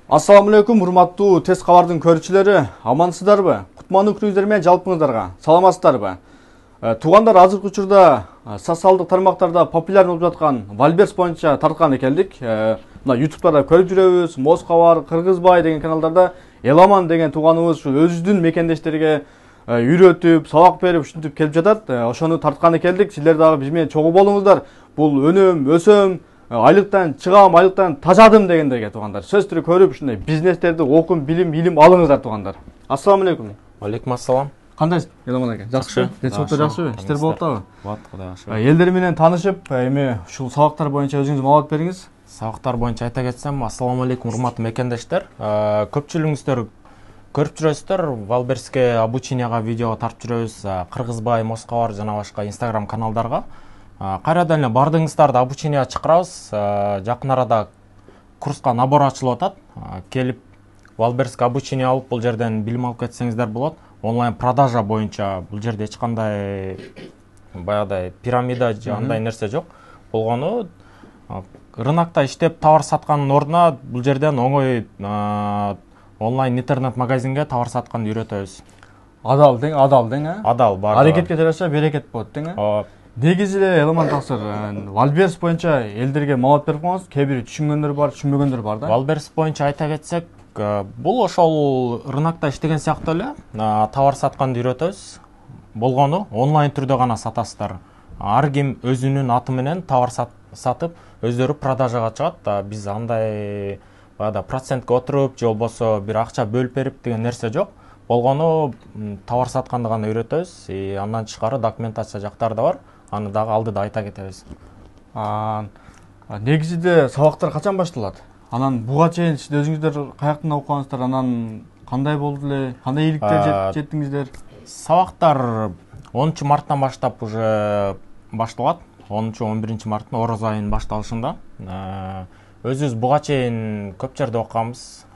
Assalamu alaikum, урматтуу Тез кабардын көрүүчүлөрү, амансыздарбы? Кутмандуу күнүңүздөр менен жалпыңыздарга саламатсыздарбы? Туугандар, азыркы учурда социалдык тармактарда популяр болуп жаткан Валберс боюнча тарткан экелдик. Мына YouTube'да көрүп жүрөбүз, Моз кабар, Кыргызбай деген каналдарда Эламан деген тууганыбыз өзүнүн мекендештериге үйрөтүп, сабак берип, ушинтип келип жатат. Ошону тарткан экелдик. Силер дагы биз менен чогуу болуңуздар. Бул өнөм, өсөм, айлыктан чыгам, айлыктан тажадым дегендерге туугандар. Сөз түрү көрүп, ушундай бизнестерди окуп, илим алыңыздар туугандар. Ассаламу алейкум. Алейкум ассалам. Кандайсыз, Эламан ака? Жакшыбы? Денсаулыктар жакшыбы? Иштер болуп атабы? Болот, Кудай жакшы. Элдер менен таанышып, эми ушул сабактар боюнча өзүңүз маалымат бериңиз. Сабактар боюнча айта кетсем, ассаламу алейкум урматтуу мекендештер. Көпчүлүгүңүздөр көрүп жүрөсүздөр, Валберске обученияга видео тартып жүрөбүз, Кыргызбай, Моз кабар жана башка Instagram каналдарга. Кайрадан эле бардыгыңыздарды обучения чакырабыз. Жакын арада курска набор ачылып атат. Келип Валберске обучение алып, бул жерден билим алып кетсеңиздер болот. Онлайн продажа боюнча бул жерде эч кандай баягыдай пирамида же андай нерсе жок. Болгону рынокто иштеп товар саткандын ордуна бул жерден оңой онлайн интернет магазинге товар сатканды үйрөтөбүз. Адал тең, Адал бар. Аракетке жараша берекет болот тең. Негизи эле Эламан таксыр Валберс боюнча элдерге маалымат берип коюңуз. Кээ бир түшүнгөндөр бар, түшүнбөгөндөр бар да. Валберс боюнча айта кетсек, бул ошол рынокто иштеген сыяктуу эле товар сатканды үйрөтөбүз. Болгону онлайн түрдө гана сатасыздар. Ар ким өзүнүн аты менен товар сатып, өздөрү продажага чыгат. Биз андай баягы процентке отуруп, же болбосо бир акча бөлүп берип деген нерсе жок. Болгону товар сатканды гана үйрөтөбүз. Андан тышкары документация жактары да бар. Аны дагы алдыда айта кетебиз. Негизинде сабактар качан башталат? Анан буга чейин сиз өзүңүздөр каяктан окугансыздар? Анан кандай болду эле? Кандай ийгиликтер жеттиңиздер? Сабактар 10 марттан баштап уже башталат. 10-11 марттын ороз айынын башталышында. Өзүбүз буга чейин көп жерде окуганбыз.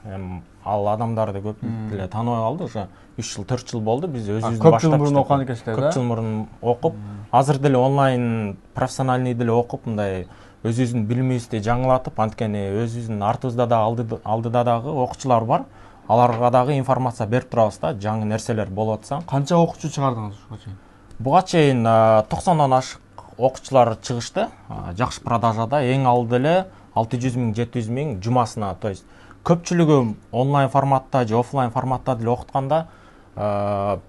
Ал адамдарды көп эле тааныбай калды. Уже 3 жыл, 4 жыл болду. Биз өзүбүздүн көп жыл мурун окуган экенсиздер да? Көп жыл мурун окуп, азыр деле онлайн профессиональный деле окуп, мындай өзүбүздүн билимибизди жаңылатып, анткени өзүбүздүн артыбызда да алдыда дагы окуучулар бар. Аларга дагы информация берип турабыз да, жаңы нерселер болуп атса. Канча окуучу чыгардыңыз буга чейин? Буга чейин 90дон ашык окуучулар чыгышты. Жакшы продажада эң алды эле 600 миң, 700 миң жумасына, то есть көпчүлүгү онлайн форматта же офлайн форматта деле окутканда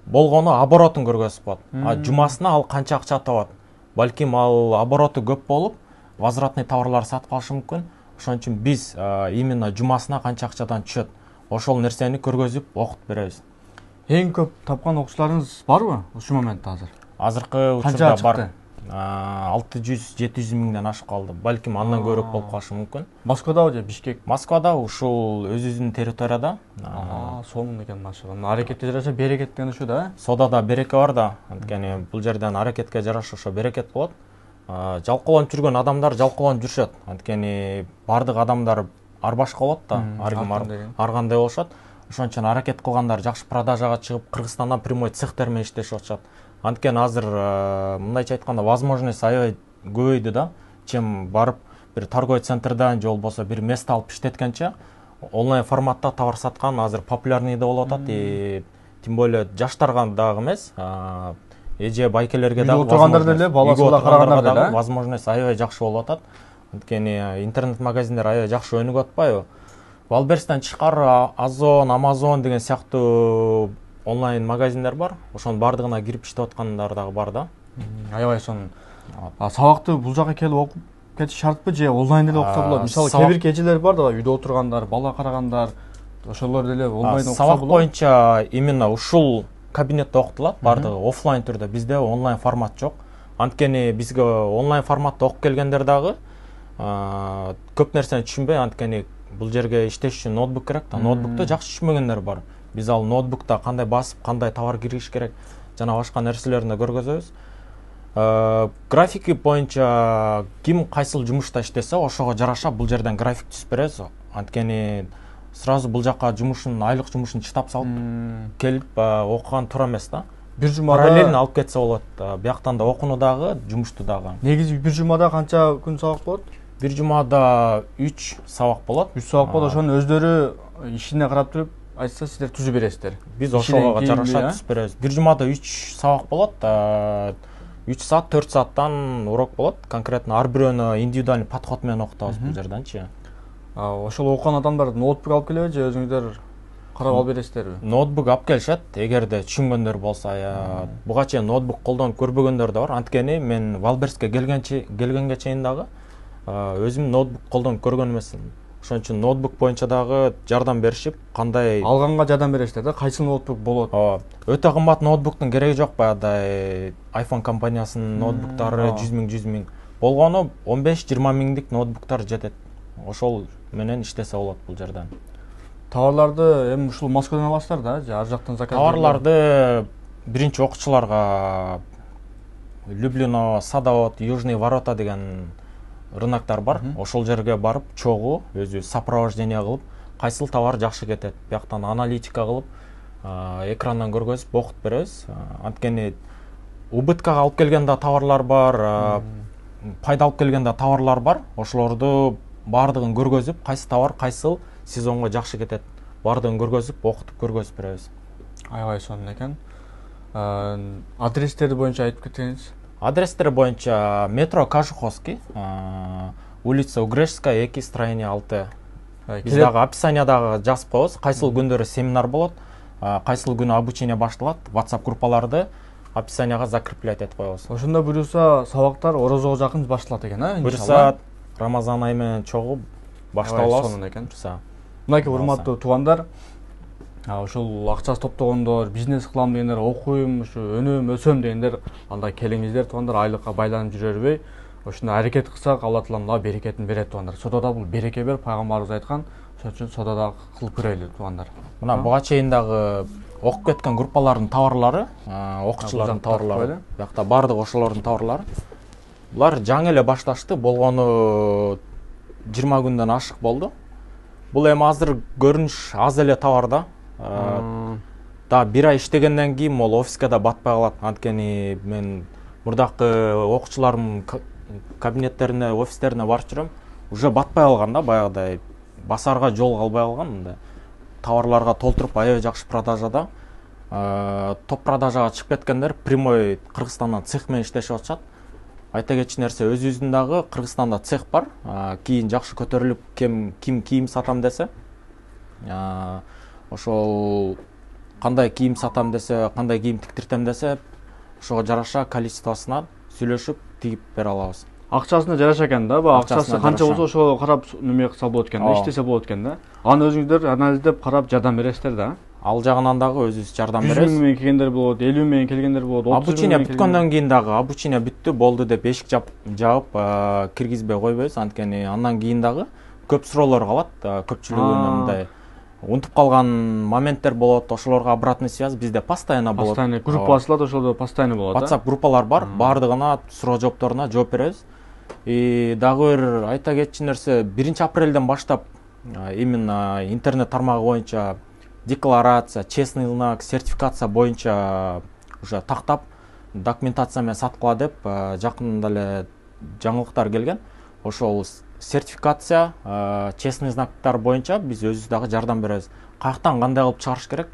болгону оборотун көргөзүп коет. Жумасына ал канча акча табат. Балким ал обороту көп болуп, возвратный товарлар сатып алышы мүмкүн. Ошон үчүн биз именно жумасына канча акчадан түшөт, ошол нерсени көргөзүп окутуп беребиз. Эң көп тапкан окуучуларыңыз барбы ушул моментте азыр? Азыркы учурда бар. 600-700 миңден ашып калды. Балким андан көбүрөөк болуп калышы мүмкүн. Москвадабы же Бишкек? Москвада, ушул өзүбүздүн территорияда. Сонун экен машыган. Аракетке жараша берекет деген ушу да. Содада береке бар да. Анткени бул жерден аракетке жараша ошо берекет болот. Жалкоолонуп жүргөн адамдар жалкоолонуп жүрүшөт. Анткени бардык адамдар ар башка болот да. Ар ким ар кандай болушат. Ошон үчүн аракет кылгандар жакшы продажага чыгып, Кыргызстандан прямой цехтер менен иштешип атышат. Анткени азыр мындайча айтканда возможность аябай көбөйдү да. Чем барып бир торговый центрден же болбосо бир место алып иштеткенче онлайн форматта товар саткан азыр популярный да болуп атат. Тем более жаштарга дагы эмес, эже байкелерге дагы отургандар деле, баласына карагандар деле возможность аябай жакшы болуп атат. Анткени интернет магазиндер аябай жакшы өнүгүп атпайбы? Валберстен тышкары Озон, Amazon деген сыяктуу онлайн магазиндер бар. Ошонун бардыгына кирип иштеп аткандар дагы бар да. Аябай сонун. Сабакты бул жака келип окуп кетиш шартпы же онлайн деле окуса болот? Мисалы, кээ бир эжелер бар да, үйдө отургандар, бала карагандар, ошолор деле онлайн окуса болот. Сабак боюнча именно ушул кабинетте окутулат, бардыгы офлайн түрдө. Бизде онлайн формат жок. Анткени бизге онлайн форматта окуп келгендер дагы көп нерсени түшүнбөй, анткени бул жерге иштеш үчүн ноутбук керек да. Ноутбукту жакшы түшүнбөгөндөр бар. Биз ал ноутбукта кандай басып, кандай товар киргизиш керек, жана башка нерселерин да көргөзөбүз. Графики боюнча ким кайсыл жумушта иштесе, ошого жараша бул жерден график түзүп беребиз. Анткени сразу бул жака жумушун, айлык жумушун чытап салып келип окуган туура эмес да. Бир жумада параллельно алып кетсе болот. Бияктан да окууну дагы, жумушту дагы. Негизи бир жумада канча күн сабак болот? Бир жумада 3 сабак болот. 3 сабак болот. Ошонун өздөрү ишине карап туруп айтса сиздер түзүп бересиздер. Биз ошого жараша түзүп беребиз. Бир жумада 3 сабак болот. 3 саат, 4 сааттан урок болот. Конкретно ар бирөөнү индивидуальный подход менен окутабыз бул жерденчи. Ошол окуган адамдар ноутбук алып келеби же өзүңүздөр карап алып бересиздерби? Ноутбук алып келишет, эгерде түшүнгөндөр болсо. Буга чейин ноутбук колдонуп көрбөгөндөр да бар. Анткени мен Валберске келгенге чейин дагы өзүм ноутбук колдонуп көргөн эмесмин. Ошон үчүн ноутбук боюнча дагы жардам беришип, кандай алганга жардам бересиздер да, кайсы ноутбук болот? Өтө кымбат ноутбуктун кереги жок, баягыдай iPhone компаниясынын ноутбуктары 100 миң болгону 15-20 миңдик ноутбуктар жетет. Ошол менен иштесе болот бул жерден. Товарларды эми ушул Москвадан аласыздар да, же ар жактан заказ? Товарларды биринчи окуучуларга Люблино, Садовод, Южный ворота деген рыноктар бар. Ошол жерге барып, чогуу өзү сопровождение кылып, кайсыл товар жакшы кетет, бияктан аналитика кылып, экрандан көргөзүп окутуп беребиз. Анткени убыткага алып келген да товарлар бар, пайда алып келген да товарлар бар. Ошолорду баардыгын көргөзүп, кайсы товар кайсыл сезонго жакшы кетет, баардыгын көргөзүп, окутуп көргөзүп беребиз. Аябай сонун экен. Адрестери боюнча айтып кетсеңиз. Адрестери боюнча метро Кожуховский, улица Угрешская, 2, строение 6. Биз дагы описаниядагы жазып коебуз, кайсыл күндөрү семинар болот, кайсыл күнү обучение башталат, WhatsApp группаларды описанияга закреплять этип коебуз. Ошондо буюрса сабактар орозого жакын башталат экен, иншалла. Буюрса Рамазан айы менен чогуу баштап алабыз. Сонун экен. Мынакей урматтуу туугандар, ушул акчасы топтогондор, бизнес кылам дегендер, окуйм, ушу өнөм, өсөм дегендер, анда келиңиздер туугандар, айлыкка байланып жүрө бербей, ошондой аракет кылсак, Алла Таалам да берекетин берет туугандар. Содада бул береке бер, пайгамбарыбыз айткан. Ошон үчүн содада кылып көрөлү туугандар. Мына буга чейин дагы окуп кеткен группалардын товарлары, окуучулардын товарлары, биякта баардык ошолордун товарлары. Булар жаңы эле башташты, болгону 20 күндөн ашык болду. Бул эми азыр көрүнүш аз эле товар да. Да 1 ай иштегенден кийин могул офиске да батпай калат. Анткени мен мурдакы окуучулардын кабинеттерине, офистерине барып жүрөм. Уже батпай калган да, баягыдай басарга жол калбай калган. Мындай товарларга толтуруп аябай жакшы продажада. Топ продажага чыгып кеткендер прямой Кыргызстандан цех менен иштешип атышат. Айта кетчү нерсе, өзүбүздүн дагы Кыргызстанда цех бар. Кийин жакшы көтөрүлүп, ким кийим сатам десе, ошол кандай кийим сатам десе, кандай кийим тиктиртем десе, ошого жараша количествосуна сүйлөшүп тигип бере алабыз. Акчасына жараша экен да, акчасы канча болсо ошого карап неме кылса болот экен да, иштесе болот экен да. Аны өзүңүздөр анализдеп карап жардам бересиздер да. Ал жагынан дагы өзүбүз жардам беребиз. 100 миң келгендер болот, 50 миң келгендер болот, 30 миң. Обучение бүткөндөн кийин дагы обучение бүттү, болду деп эшик жаап киргизбей койбойбуз. Анткени андан кийин дагы көп суроолор калат. Көпчүлүгүнө мындай унутуп калган моменттер болот, ошолорго обратный связь bizde постоянно болот. Постоянно группа ачылат, ошолдо постоянно болот. WhatsApp группалар бар, баардыгына суроо жоопторуна жооп беребиз. Дагы бир айта кетчү нерсе, 1 апрелден баштап именно интернет тармагы боюнча декларация, честный знак, сертификация боюнча уже тактап документация менен саткыла деп жакында эле жаңылыктар келген. Ошол сертификация, честный знактар боюнча биз өзүбүз дагы жардам беребиз. Каяктан кандай кылып чыгарыш керек,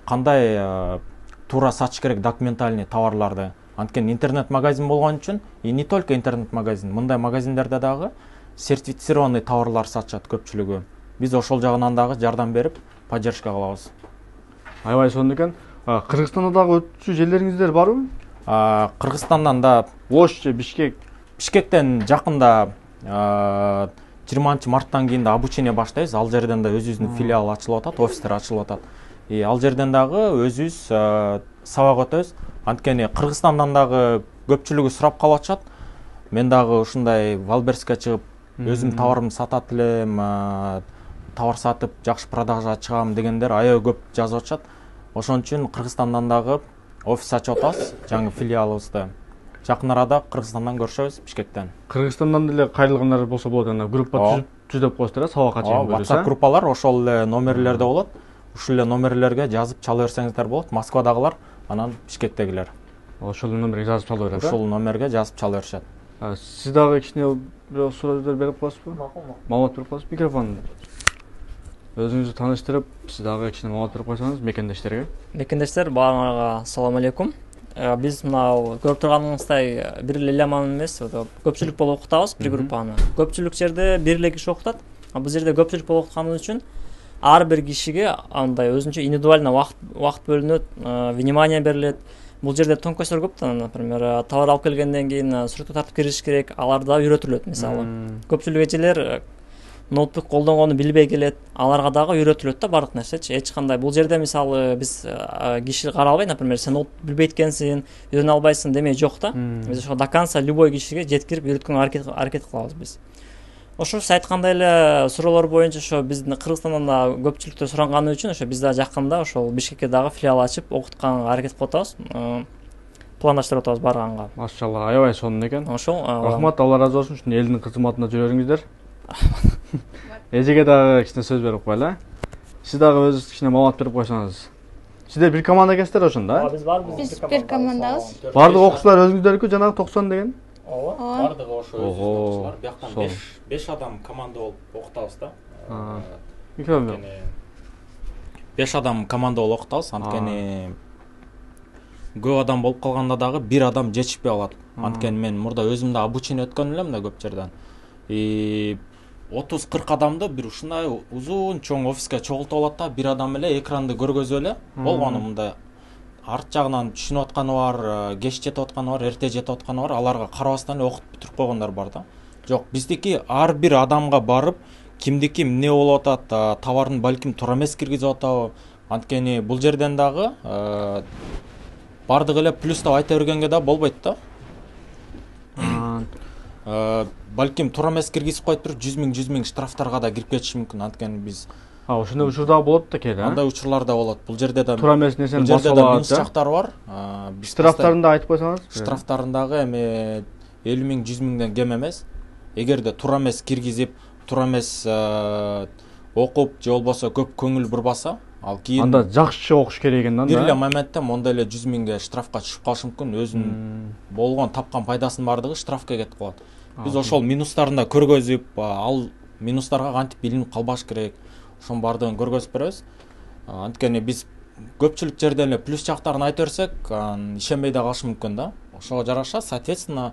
кандай туура сатыш керек документальный товарларды. Анткени интернет-магазин болгон үчүн, и не только интернет-магазин, мындай магазиндерде дагы сертифицированный товарлар сатышат көпчүлүгү. Биз ошол жагынан дагы жардам берип, поддержка кылабыз. Аябай сонун экен. Кыргызстанда дагы өтчү жерлериңиздер барбы? Кыргызстандан да Ош же Бишкек. Бишкектен жакында 20 марттан кийин да обучение баштайбыз. Ал жерден да өзүбүздүн филиал ачылып атат, офистер ачылып атат. Ал жерден дагы өзүбүз сабак өтөбүз. Анткени Кыргызстандан дагы көпчүлүгү сурап калып атышат. Мен дагы ушундай Валберске чыгып, өзүм товарымды сатат элем, товар сатып жакшы продажага чыгам дегендер аябай көп жазып атышат. Ошон үчүн Кыргызстандан дагы офис ачып атабыз, жаңы филиалыбызды. Жакын арада Кыргызстандан көрүшөбүз, Бишкектен. Кыргызстандан деле кайрылгандар болсо болот, анда группа түзүп коесуздар, сабакка чейин көрүсөз. WhatsApp группалар ошол эле номерлерде болот. Ушул эле номерлерге жазып чала берсеңиздер болот. Москвадагылар, анан Бишкектегилер. Ошол номерге жазып чала берет. Ошол номерге жазып чала беришет. Сиз дагы кичине бирок сурооздор берип коесузбу? Макул. Маалымат берип коесузбу? Микрофон. Өзүңүздү тааныштырып, сиз дагы кичине маалымат берип койсоңуз мекендештерге. Мекендештер, баарыңарга assalomu alaykum. Биз мынау көрүп турганыңыздай бир эле элеман эмес, көпчүлүк болуп окутабыз бир группаны. Көпчүлүк жерде бир эле киши окутат. Бул жерде көпчүлүк болуп окутканы үчүн ар бир кишиге андай өзүнчө индивидуально убакыт бөлүнөт, внимание берилет. Бул жерде тонкостьтер көп да, например, товар алып келгенден кийин сүрөткө тартып кириш керек, алар да үйрөтүлөт мисалы. Көпчүлүк эжелер ноутбук колдонгону билбей келет, аларга дагы үйрөтүлөт да бардык нерсечи. Эч кандай бул жерде мисалы биз киши каралбай, например, сен ноутбук билбейт экенсиң, үйрөнө албайсың демей жок да. Биз ошо до конца любой кишиге жеткирип үйрөткөнгө аракет кылабыз биз. Ошо сиз айткандай эле суроолор боюнча ошо биздин Кыргызстандан да көпчүлүктө суранганы үчүн ошо биз да жакында ошол Бишкекке дагы филиал ачып окутканга аракет кылып атабыз. Пландаштырып атабыз барганга. Машалла, аябай сонун экен. Ошол рахмат, Алла ыраазы болсун, ушундай элдин кызматында жүрө бериңиздер. Эжеге дагы кичине сөз берип коелу. Сиз дагы өзүңүз кичине маалымат берип койсоңуз. Сиздер бир команда экенсиздер ошондо, Биз барбыз. Биз бир командабыз. Бардык окуучулар өзүңүздөрдүкү жанагы 90 деген? Ооба. Бардыгы ошо өзүбүздүкчүлөр. Бияктан 5 адам команда болуп окутабыз да. Микрофон. 5 адам команда болуп окутабыз. Анткени көп адам болуп калганда дагы бир адам жетишпей калат. Анткени мен мурда өзүм да обучение өткөн элем да көп жерден. 30-40 адамды бир ушундай узун чоң офиске чогултуп алат да, бир адам эле экранды көргөзүп эле болгону мындай арт жагынан түшүнүп атканы бар, кеч жетип атканы бар, эрте жетип атканы бар, аларга карабастан эле окутуп бүтүрүп койгондар бар да. Жок, биздики ар бир адамга барып, кимдики эмне болуп атат, товарын балким туура эмес киргизип атабы. Анткени бул жерден дагы бардык эле плюстап айта бергенге да болбойт да. Балким туура эмес киргизип коюп туруп 100 000 штрафтарга да кирип кетиши мүмкүн. Анткени биз ошондой учур дагы болот да кээде, андай учурлар да болот. Бул жерде да туура эмес нерсени басып алат. Минус жактары бар. Штрафтарын да айтып койсоңуз. Штрафтарын дагы эми 50 000 100 000ден кем эмес. Эгерде туура эмес киргизип, туура эмес окуп же болбосо көп көңүл бурбаса, ал кийин анда жакшы окуш керек экен да. Бир эле моментте мондай эле 100 000ге штрафка түшүп калышы мүмкүн. Өзүнүн болгон тапкан пайдасынын бардыгы штрафка кетип калат. Биз ошол минустарын да көргөзүп, ал минустарга кантип илинип калбаш керек, ошонун бардыгын көргөзүп беребиз. Анткени биз көпчүлүк жерден эле плюс жактарын айта берсек, ишенбей да калышы мүмкүн да. Ошого жараша, соответственно,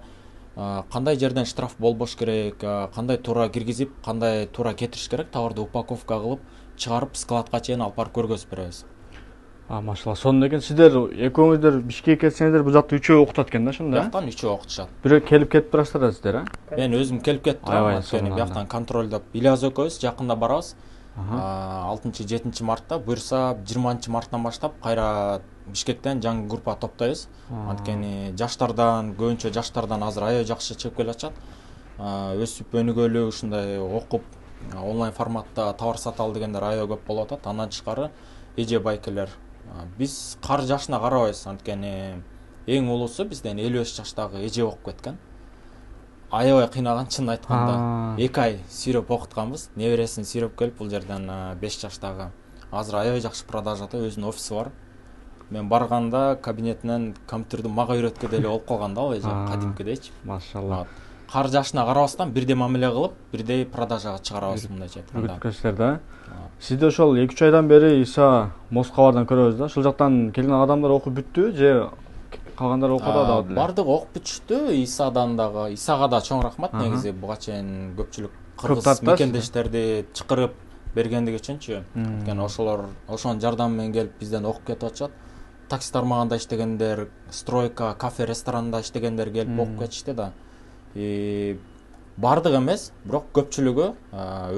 кандай жерден штраф болбош керек, кандай туура киргизип, кандай туура кетириш керек, товарды упаковка кылып, чыгарып складка чейин алып барып көргөзүп беребиз. Машалла, сонун экен. Сиздер экөөңүздөр Бишкекке келсеңиздер, бул жакта 3өө окутат экен да, ошондо. Бияктан 3өө окутушат. Бирөө келип кетип турасыздар да сиздер, Мен өзүм келип кетип турам, анткени бияктан контролдоп Ильяз экөөбүз жакында барабыз. 6-7 мартта, буюрса 20 марттан баштап кайра Бишкектен жаңы группа топтойбуз. Анткени жаштардан, көбүнчө жаштардан азыр аябай жакшы чыгып келе атышат. Өсүп өнүгөлү, ушундай окуп онлайн форматта товар саталы дегендер аябай көп болуп атат. Андан тышкары эже байкелер. Биз кар жашына карабайбыз, анткени эң улуусу бизден 55 жаштагы эже болуп кеткен. Аябай кыйнаган, чын айтканда. 2 ай сүйрөп окутканбыз. Небересин сүйрөп келип, бул жерден 5 жаштагы. Азыр аябай жакшы продажада, өзүнүн офиси бар. Мен барганда кабинетинен компьютерди мага үйрөткө деле болуп калган да, ал эже кадимкидейчи. Машалла. Кар жашына карабастан бирдей мамиле кылып, бирдей продажага чыгарабыз мындайча айтканда. Үгүткөнсүздөр да. Сизде ошол 2-3 айдан бери Иса Москвадан көрөбүз да. Ошол жактан келген адамдар окуп бүттү же калгандар окууда дагы деле? Бардык окуп бүтүштү. Исадан дагы. Исага да чоң рахмат негизи. Буга чейин көпчүлүк кыргыз мекендештерди чакырып бергендиги үчүнчү. Анткени ошонун жардамы менен келип бизден окуп кетип атышат. Такси тармагында иштегендер, стройка, кафе, ресторанында иштегендер келип окуп кетишти да. Бардык эмес, бирок көпчүлүгү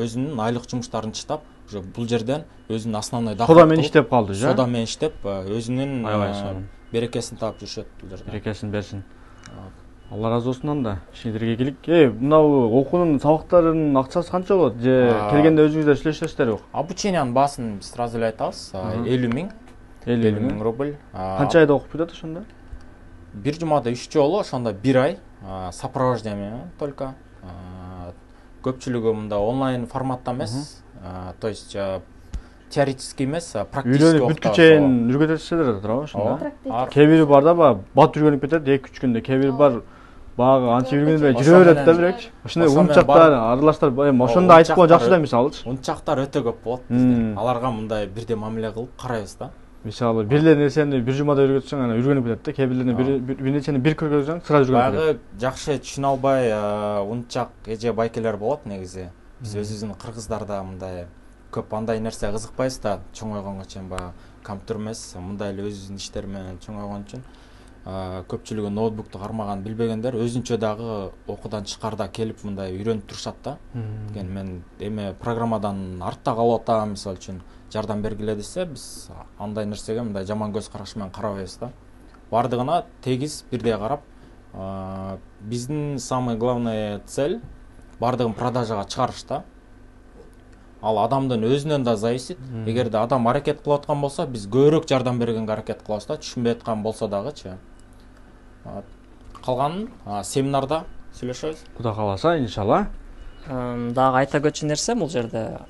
өзүнүн айлык жумуштарын чыштап, уже бул жерден өзүнүн основной доход сода менен иштеп калды, же? Сода менен иштеп, өзүнүн берекесин таап жүрүшөт бул жерде. Берекесин берсин. Алла ыраазы болсун анда. Ишиңерге ийгилик. Мынау окуунун сабактарынын акчасы канча болот? Же келгенде өзүңүздөр сүйлөшөсүздөрбү? Обучениянын баасын биз сразу эле айтабыз. 50 000 рубль. Канча айда окуп бүтөт ошондо? Бир жумада 3 жолу, ошондо 1 ай сопровождение только. Көпчүлүгү мында онлайн форматта эмес, то есть теоретический эмес, практический окутабыз. Бүткү чейин жүргүзөсүздөр да туурабы ошондо? Кээ бири бар да, бат жүргөнүп кетет 2-3 күндө, кээ бири бар Багы анча жүргөндө жүрө берет да бирок. Ошондой унчактар, аралаштар эми ошондо айтып койгон жакшы да мисалычы. Унчактар өтө көп болот бизде. Аларга мындай бирдей мамиле кылып карайбыз да. Мисалы бир эле нерсени бир жумада үйрөтсөң ана үйрөнүп кетет да. Кээ бирлерин бир нерсени бир көргөзсөң сразу үйрөнүп кетет. Багы жакшы түшүнө албай унчак эже байкелер болот негизи. Биз өзүбүздүн кыргыздарда мындай көп андай нерсе кызыкпайбыз да. Чоңойгонго чейин баягы компьютер эмес, мындай эле өзүбүздүн иштер менен чоңойгон үчүн көпчүлүгү ноутбукту кармаган билбегендер өзүнчө дагы окуудан тышкарыда келип мындай үйрөнүп турушат да. Деген мен эме программадан артта калып атам, мисалы үчүн жардам бергиле десе, биз андай нерсеге мындай жаман көз караш менен карабайбыз да. Бардыгына тегиз бирдей карап, биздин самый главный цель бардыгын продажага чыгарыш да. Ал адамдын өзүнөн да зависит. Эгерде адам аракет кылып аткан болсо, биз көбүрөөк жардам бергенге аракет кылабыз да, түшүнбөй аткан болсо дагычы. Калганын семинарда сүйлөшөбүз. Кудай кааласа, иншалла. Дагы айта кетчү нерсе бул жерде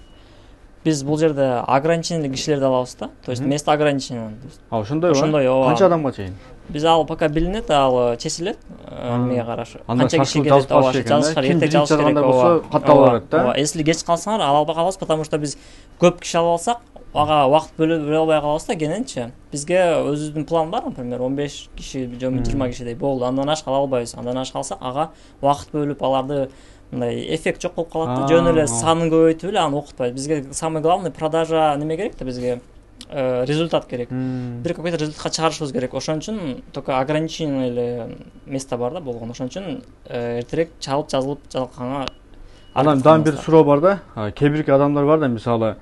биз бул жерде ограниченный кишилерди алабыз да. То есть место ограничено. Ошондойбу? Ошондой, ооба. Канча адамга чейин? Биз ал пока билинет, ал чечилет. Эмеге караш. Канча киши келет, ооба, жазышкар эртең жазыш керек болсо, катталып берет да. Ооба, если кеч калсаңар ала албай калабыз, потому что биз көп киши алып алсак, ага убакыт бөлө албай калабыз да, кененчи. Бизге өзүбүздүн план бар, например, 15 киши, же 20 кишидей болду. Андан ашык ала албайбыз. Андан ашык алсак, ага убакыт бөлүп аларды мындай эффект жок болуп калат да. Жөн эле санын көбөйтүп эле аны окутпайбыз. Бизге самый главный продажа неме керек да, бизге результат керек. Бир какой-то результатка чыгарышыбыз керек. Ошон үчүн только ограниченный эле место бар да болгон. Ошон үчүн эртерээк чалып жазылып жалканга. Анан дагы бир суроо бар да. Кээ бирки адамдар бар да, мисалы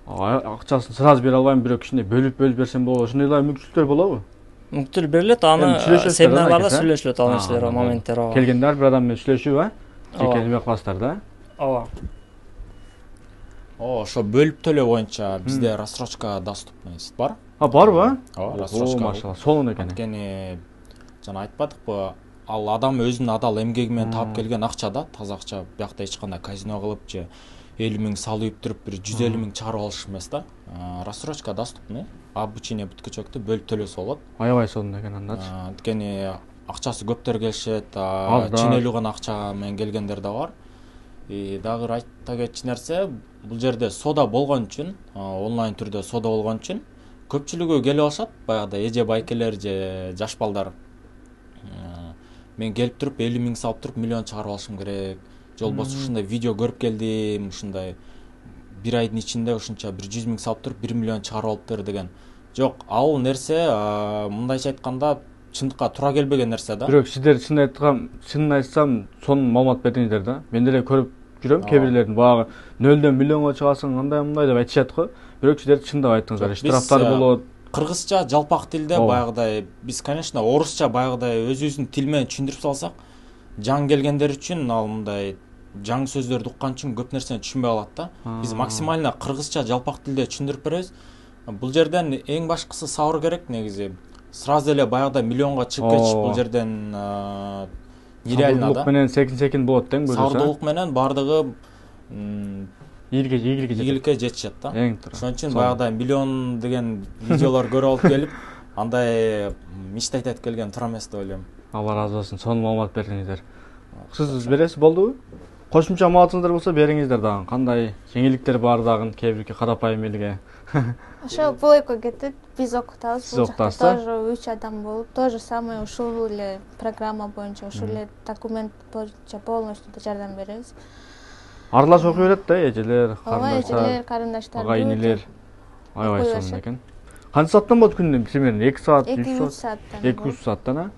акчасын сразу бере албайм, бирок кичине бөлүп берсем болот. Ошондой мүмкүнчүлүктөр болобу? Мүмкүнчүлүк берилет, аны семинарларда сүйлөшүлөт ал нерселер, моменттер. Келгендер бир адам менен сүйлөшүп, жеке неме кыласыздар да. Ооба. Ошо бөлүп төлөө боюнча бизде рассрочка доступность бар. Барбы? Ооба, рассрочка. Машалла, сонун экен. Анткени жана айтпадыкпы, ал адам өзүнүн адал эмгеги менен таап келген акча да, таза акча. Биякта эч кандай казино кылып же 50 миң салып туруп бир 150 миң чыгарып алыш эмес да. Рассрочка доступный. Обучение бүткүчөктү бөлүп төлөсө болот. Аябай сонун экен андачы. Анткени акчасы көптөр келишет, ченелүү гана акча менен келгендер да бар. Дагы айта кетчү нерсе, бул жерде сода болгон үчүн, онлайн түрдө сода болгон үчүн көпчүлүгү келип алышат, баягыдай эже байкелер же жаш балдар. Мен келип туруп 50 миң салып туруп миллион чыгарып алышым керек. Же болбосо ушундай видео көрүп келдим, ушундай бир айдын ичинде ушунча 100 миң салып туруп 1 миллион чыгарып алыптыр деген. Жок, ал нерсе мындайча айтканда чындыкка туура келбеген нерсе да. Бирок сиздер чынын айтсам, сонун маалымат бердиңиздер да. Мен деле көрүп жүрөм, кээ бирлердин багы 0дөн миллионго чыгасың, андай деп айтышат го. Бирок сиздер чындап айттыңыздар, штрафтар болот. Кыргызча жалпак тилде баягыдай биз, конечно, орусча баягыдай өзүбүздүн тил менен түшүндүрүп салсак, жаңы келгендер үчүн ал мындай жаңы сөздөрдү уккан үчүн көп нерсени түшүнбөй калат да. Биз максимально кыргызча жалпак тилде түшүндүрүп беребиз. Бул жерден эң башкысы сабыр керек негизи. Сразу эле баягыдай миллионго чыгып кетиш бул жерден нереально да. Сабырдуулук менен секин болот дең бөлөсө. Сабырдуулук менен бардыгы ийгиликке жетишет да. Ошон үчүн баягыдай миллион деген видеолор көрүп алып келип, андай мечтать этип келген туура эмес деп ойлойм. Алла разы болсун, сонун маалымат бердиңиздер. Сиз бересиз, болдубу? Кошумча маалыматыңыздар болсо бериңиздер дагы. Кандай жеңилдиктер бар дагы, кээ бирки карапайым элге. Ошо бойко кетет, биз окутабыз. Сиз окутасыздар? Тоже 3 адам болуп, то же самое ушул эле программа боюнча, ушул эле документ боюнча полностью жардам беребиз. Аралаш окуй берет да, эжелер, карындаштар, агайнелер. Аябай сонун экен. Канча сааттан болот күнүнө? Примерно 2 саат, 3 саат. 2-3 сааттан,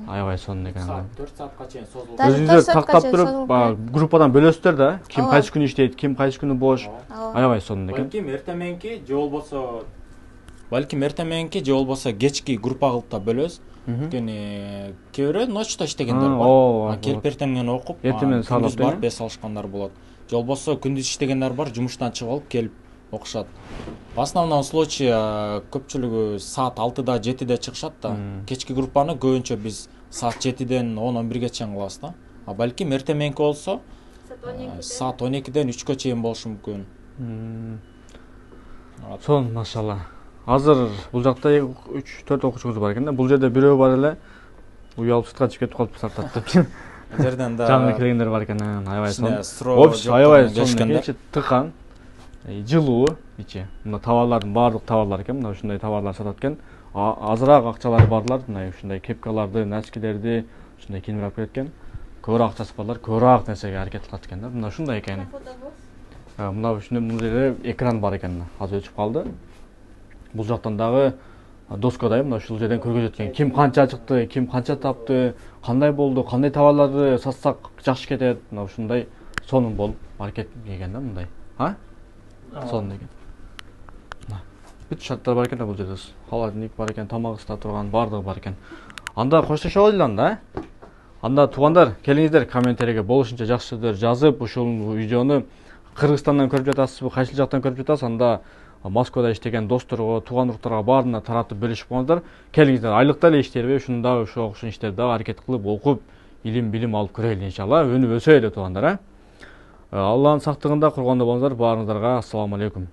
аябай сонун экен. 4 саатка чейин созулат. Өзүңүздөр тактап туруп, группадан бөлөсүздөр да, ким кайсы күнү иштейт, ким кайсы күнү бош. Аябай сонун экен. Балким эртең мененки же болбосо кечки группа кылып да бөлөбүз. Өйткөнү кээ бирөө ночто иштегендер бар. Келип эртең менен окуп, эртең саалап барып бес алышкандар болот. Же болбосо күндүз иштегендер бар, жумуштан чыгып алып келип окушат. В основном случай көпчүлүгү саат 6-да 7-де чыгышат да. Кечки группаны көбүнчө биз саат 7-ден 10-11-ге чейин кылабыз да. Балким эртең мененки болсо саат 12-ден 3-кө чейин болушу мүмкүн. Сон, машалла. Азыр бул жакта 3-4 окуучуңуз бар экен да. Бул жерде бирөө бар эле уялып сыртка чыгып кетип калыпты сартат деп жерден да жаңы келгендер бар экен, аябай кичине сонун. суроо Общий аябай жооптон сонун келишкенде. экен, тыкан, жылуу ичи. Мына товарлардын баардык товарлар экен, мына ушундай товарлар сатат экен. Азыраак акчалары барлар мына ушундай кепкаларды, носкилерди ушундай кийинип алып келет экен. Көбүрөөк акчасы барлар көбүрөөк нерсеге аракет кылат экен да. Мына ушундай экен. Мына ушундай мына жерде экран бар экен, азыр өчүп калды. Бул жактан дагы доскадай мына ушул жерден көргөзөт экен. Ким канча чыкты, ким канча тапты, кандай болду, кандай товарларды сатсак жакшы кетет. Мына ушундай сонун болуп аракет экен да мындай. Сонун экен. Бүт шарттар бар экен да бул жерде. Холодильник бар экен, тамак ысыта турган баардыгы бар экен. Анда коштошобуз эле анда. Анда туугандар, келиңиздер комментарийге болушунча жакшы сөздөр жазып, ушул видеону Кыргызстандан көрүп жатасызбы, кайсыл жактан көрүп жатасыз, анда Москвада иштеген досторго, тууган уруктарга баарына таратып бөлүшүп коңуздар. Келиңиздер, айлыкта эле иштейбиз, ушунда ошо окшош иштерди дагы аракет кылып, окуп, илим алып көрөлү иншалла. Өнүп өсөлү туугандар, Алланын сактыгында курганда болуңуздар. Баарыңыздарга ассаламу алейкум.